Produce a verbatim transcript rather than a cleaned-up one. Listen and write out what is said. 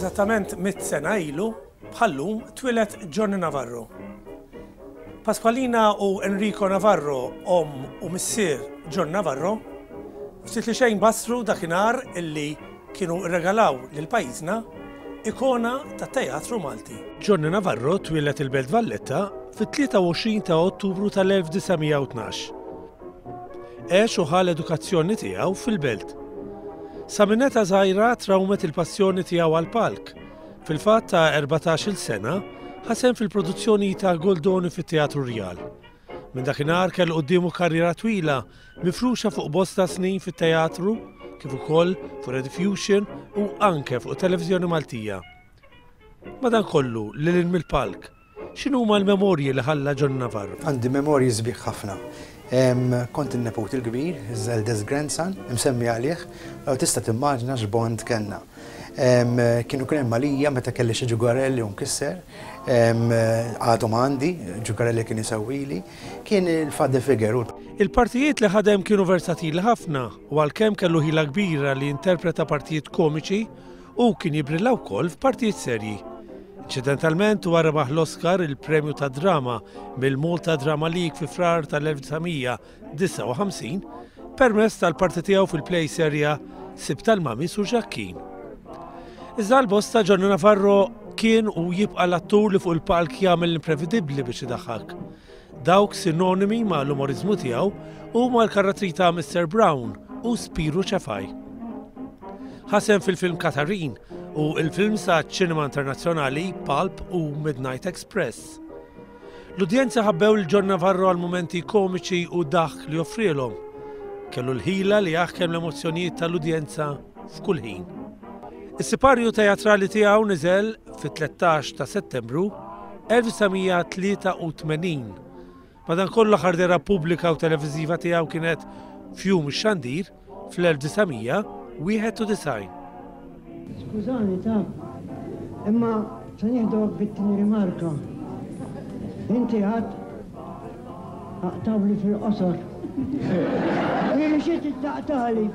Eżattament mitt sena ilu, bħallum, twieled Johnny Navarro. Pasqualina u Enrico Navarro, omm u missier John Navarro, ftit li xejn basru dakinhar illi kienu regalaw lil pajjiżna ikona tat-teatru Malti. Johnny Navarro twieled il-Belt Valletta fit-tlieta u għoxrin ta' Ottubru tal-elf disa' mija u tnax. Għex u ħa l-edukazzjoni tiegħu fil-belt. Sa minn età żgħira trawmet il-passjoni tiegħu għall-palk. Fil-fatt ta' erbatax-il sena ħasem fil-produzzjoni ta' Goldoni fit-Teatru Rjal. Minn dakinhar kellu quddiemu karriera twila mifruxa fuq bosta snin fit-teatru, kif ukoll fuq Rediffusion u anke fuq Televiżjoni Maltija. Madankollu, lil hinn mill-palk, x'inhuma l-memorji li ħalla John Navarro? Għandi memorji sbieħ ħafna. Em, kont in-neput il-kbir, his eldest grandson, imsemmi għalih, u tista' timmaġina x'bond kellna. Em, kienu kien hemm għalija meta kelli xi ġugarelli u nkisser, em, għadhom għandi, ġugarelli kien isewwili, kien il-father figure. Il-partijiet li ħadem kienu versatili ħafna u għalkemm kellu ħila kbira li interpreta partijiet komiċi u kien jibrilla wkoll f'partijiet serji. Inċidentalment huwa rebaħ l-Oscar, il-premju ta' drama mill-Malta Drama League fi Frar tal-elf disa' mija disgħa u ħamsin permezz tal-parti tiegħu fil-play serja Sib tal-Mami Su Ġakkin. Iżda l-bosta Johnny Navarro kien u jibqa' l-attur li fuq il-palk jagħmel l-imprevedibbli biex idaħħak. Dawk sinonimi ma' l-umorizmu tiegħu huma l-karattri ta' Mister Brown u Spiru Ċefaj. Ħasem fil-film Katarin u il-film sa' ċinema internazzjonali Pulp u Midnight Express. L-udjenza ħabbew lil John Navarro għal momenti komiċi u daħk li offrielhom. Kellu l-ħila li jaħkem l-emozzjonijiet tal-udjenza f'kull ħin. Is-siparju teatrali tiegħu niżel fit-tlettax ta' Settembru elf disa' mija tlieta u tmenin. Madankollu l-aħħar dehra pubblika u televiżiva tiegħu kienet f'jum ix-xandir fl-elf disa' mija wieħed u disgħin. Skużani ta' imma se nieħdok bit-tieni rimarka. Inti għad aqtawli fil-qosor. Irixi taqtali.